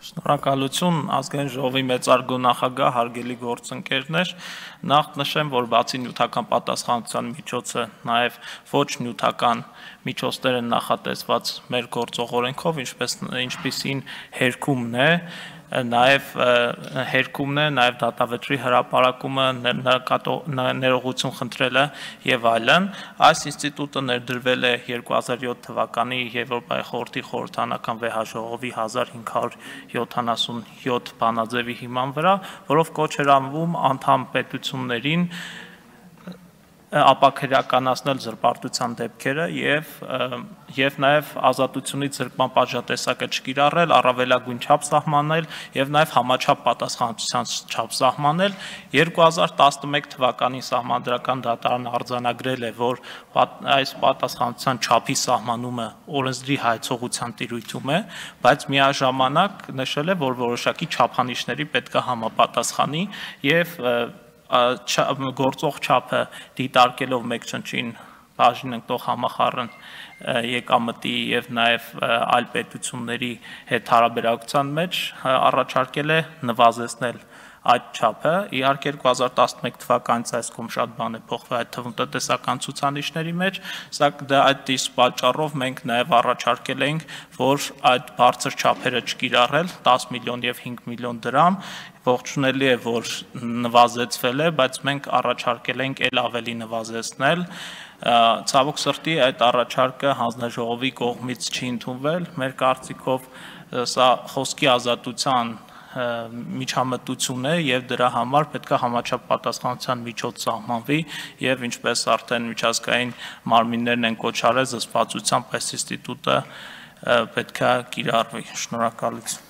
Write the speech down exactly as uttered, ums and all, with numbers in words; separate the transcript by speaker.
Speaker 1: Շնորհակալություն ազգային ժողովի մեծարգո նախագահ, հարգելի գործընկերներ, նախ նշեմ, որ բացի նյութական պատասխանատվության միջոցը նաև ոչ նյութական միջոցներ են նախատեսված մեր գործող օրենքով, ինչպիսին հերկումն է, նաև հերկումն է, նաև դատավճռի հրապարակումը, ներողություն խնդրելը եւ այլն։ Այս ինստիտուտը ներդրվել է երկու հազար յոթ թվականի Եվրոպայի խորհրդի խորհրդանական վեհաժողովի հազար հինգ հարյուր յոթանասունյոթ բանաձևի հիման վրա, որով կոչ էր անվում անդամ պետություններին ապաքրեականացնել զրպարտության դեպքերը եւ եւ նաեւ ազատությունից զրկման պատժատեսակը չկիրառել, առավելագույն չափ սահմանել եւ նաեւ համաչափ պատասխանատվության չափ սահմանել։ երկու հազար տասնմեկ թվականին Սահմանադրական դատարանը արձանագրել է, որ այս պատասխանատվության չափի սահմանումը օրենսդրի հայցողության տիրույթում է, բայց միաժամանակ նշել է, որ որոշակի չափանիշների պետք է համապատասխանի եւ գործող չափը դիտարկելով մեկ չնչին բաժին ընկնող համախառն եկամտի եւ նաեւ այլ պետությունների հետ հարաբերակցության մեջ առաջարկել է նվազեցնել այդ չափը։ Իհարկե երկու հազար տասնմեկ թվականից այս կողմ շատ բան է փոխվել, այդ թվում տնտեսական ցուցանիշների մեջ, սակայն այդ իսկ պատճառով մենք նաեւ առաջարկել էինք, որ այդ բարձր չափերը չկիրառել դես միլիոն եւ հինգ միլիոն դրամ, ողջունելի է, որ նվազեցվել է, բայց մենք առաջարկել ենք ել ավելի նվազեցնել։ Ցավոք սրտի այդ առաջարկը հանձնաժողովի կողմից չի ընդունվել։ Մեր կարծիքով սա խոսքի ազատության միջամտություն է եւ դրա համար պետք է համաչափ պատասխանատվության միջոց սահմանվի եւ ինչպես արդեն միջազգային մարմիններն են կոչ արել զսպվածությամբ այս ինստիտուտը պետք է կիրառվի։ Շնորհակալություն։